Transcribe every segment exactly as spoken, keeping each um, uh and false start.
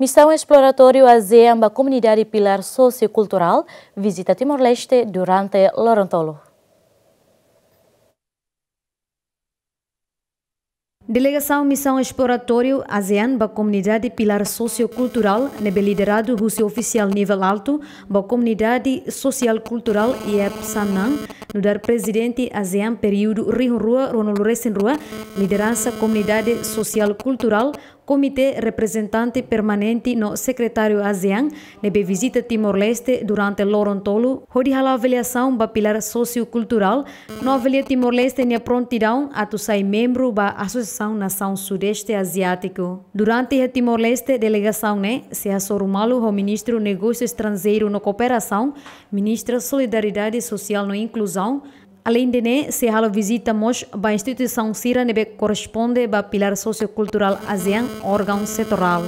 Misaun esploratóriu ASEAN ba komunidade pilár sosiokulturál vizita Timor-Leste durante loron tolu. Delegasaun Misaun Esploratóriu ASEAN ba komunidade pilár sosiokulturál ne'ebé lideradu husi ofisiál nivel altu ba komunidade sosiál kulturál I E P Samnan, nu'udar prezidente ASEAN períodu rihun rua ruanulu resin rua, lideransa komunidade sosiál kulturál, komité reprezentante permanente no sekretáriu ASEAN ne'ebé vizita Timor-Leste durante loron tolu, hodi halo avaliasaun ba pilár sosiokulturál, no avalia Timor-Leste nia prontidaun atu sai membru ba Asosiasaun Nasaun Sudeste Aziátiku. Durante iha Timor-Leste, delegasaun ne'e sei hasoru malu ho Ministru Negósiu Estranjeiru no Kooperasaun, Ministra Solidariedade Sosiál no Inkluzaun. Aleinde ne'e, sei halo vizita mós ba instituisaun sira ne'ebé korresponde ba pilár sosiokulturál ASEAN, órgaun setorál.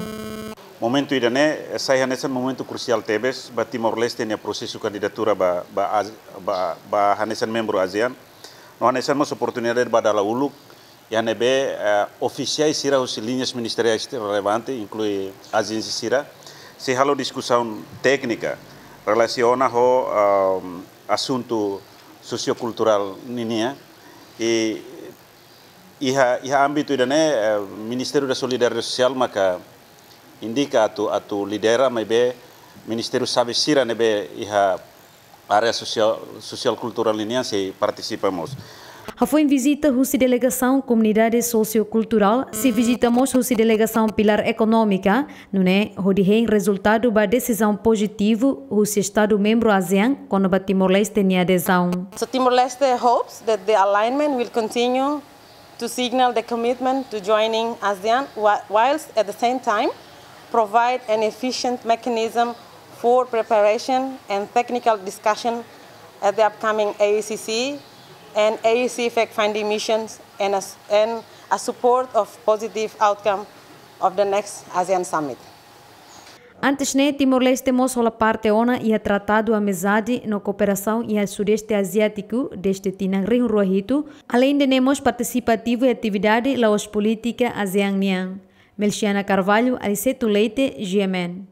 Momentu ida-ne'e sai hanesan momentu krusiál tebes ba Timor-Leste nia prosesu kandidatura ba, ba, ASE-, ba, ba hanesan membru ASEAN. No hanesan mós oportunidade ba dala uluk iha ne'ebé, eh, ofisiais sira husi liñas ministeriais relevante, inklui ajénsia sira, sei halo diskusaun téknika relasiona ho, ehm, asuntu sosiokulturál ninian. I iha, iha ámbitu ida-ne'e, eh, Ministériu da Solidariedade Sosiál maka indika atu, atu lidera, maibé ministériu xave sira ne'ebé iha área sosiál, sosiál kulturál ninian sei partisipa mós. Hafoin vizita husi delegasaun komunidade sosiokulturál, sei vizita mós husi delegasaun pilár ekonómika, nune'e hodi hein rezultadu ba desizaun pozitivu husi Estadu membru ASEAN kona-ba Timor-Leste nia adezaun. So Timor-Leste hopes that the alignment will continue to signal the commitment to joining ASEAN, whi-, whilst at the same time provide an efficient mechanism for preparation and technical discussion at the upcoming A A C C and A A C fact-finding missions and a s-, and a support of positive outcome of the next ASEAN Summit. Antes ne'e, Timor-Leste mós hola parte ona iha Tratadu Amizade no Kooperasaun iha Sudeste Aziátiku dezde tinan rihun rua hitu, aleinde ne'e mós partisipa ativu iha atividade la'ós polítika ASEAN nian. Melchiana Carvalho, Aliceto Leite, G M N.